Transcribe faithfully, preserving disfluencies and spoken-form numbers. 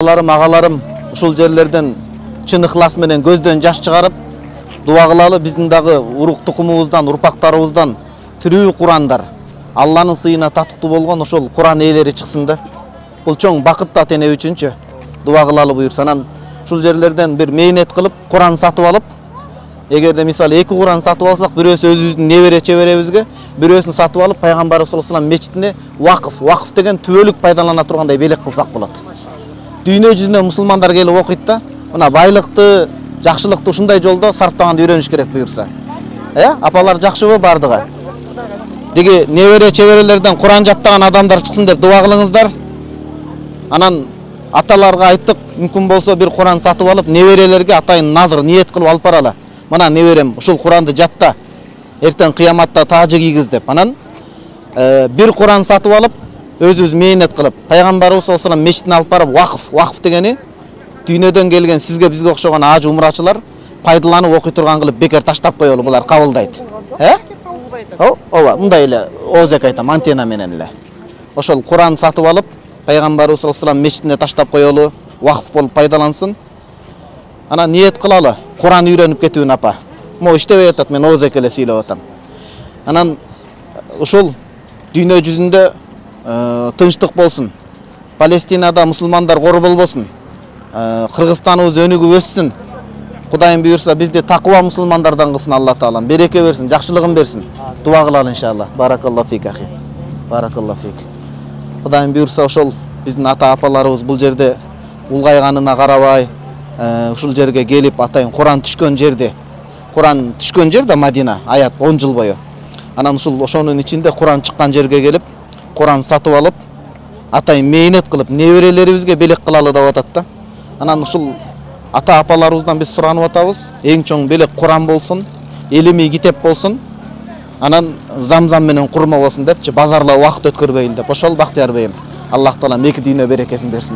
Агаларым, агаларым, ушул жерлерден чын ыхлас менен көздөн жаш чыгарып, дуа кылалы биздин дагы урук тукумубуздан, урпактарыбыздан тирүү Курандар, Алланын сыйына татыктуу болгон ошол Куран ээлери чыксын да. Бул чоң бакыт ата эне үчүнчү дуа кылалы буюрса. Анан ушул жерлерден бир мээнет кылып Куран сатып алып, эгерде мисалы эки Куран сатып алсак, бирөөсү өзүбүздүн небере чеберебизге, бирөөсүн сатып алып пайгамбарыбыз саллаллаху алейхи ва саллям мечитине вакыф, вакыф деген түбөлүк пайдалана тургандай белек кылсак болот. Дүйнө жүзүнөн мусулмандар келип окуйт да, мына байлыкты, жакшылыкты ушундай жолдо сарптаганды үйрөнүш керек буюрса. Э, апалар жакшыбы бардыгы? Деги небере чеберелерден Куран жаттаган адамдар чыксын деп дуа кылыңыздар. Анан аталарга айттык, мүмкүн болсо бир Куран сатып алып, неберелерге атайын назыр ниет кылып алып баралы. Мына неберем, ушул Куранды жатта, эртең кыяматта таажы кийгиз деп. Анан бир Куран сатып алып, өзүбүз мээнет кылып, пайгамбарыбыз саллаллаху алейхи ва саллям мечитине алып барып, вакыф, вакыф дегени дүйнөдөн келген сизге бизге окшогон аж умрачылар пайдаланып окуй турган кылып бекер таштап коелу, булар кабылдайт. Э? Ооба, мындай эле оозек айтам, антенна менен эле. Ошол Куран сатып алып, пайгамбарыбыз саллаллаху алейхи ва саллям мечитине таштап коелу, вакыф болуп пайдалансын. Анан ниет кылалы, Куран үйрөнүп кетүүнү апа. Мо иштебей атат, мен оозек эле сүйлөп атам. Анан ушул дүйнө жүзүндө тынчтык болсун. Палестинада мусулмандар кор болбосун. Кыргызстаныбыз өнүгүп өссүн. Кудайым буйрса бизди такыба мусулмандардан кылсын Алла таалам. Береке берсин, жакшылыгын берсин. Дуа кылалы иншалла. Баракаллаху фик ахи. Баракаллаху фик. Кудайым буйрса ошол биздин ата апаларыбыз бул жерде улгайганына карабай, ушул жерге келип атайын Куран түшкөн жерде. Куран түшкөн жер да Мадина, аят он жыл бою. Анан ушул ошонун ичинде Куран чыккан жерге келип, Куран сатып алып, атайын мээнет кылып, неберелерибизге белек кылалы деп атат да. Анан ушул ата апаларыбыздан биз суранып атабыз, эң чоң белек Куран болсун, илимий китеп болсун, анан замзам менен курма болсун депчи, базарла убакыт өткөрбөйлү деп. Ошол Бактияр бейим. Аллах таалам эки дүйнө берекесин берсин.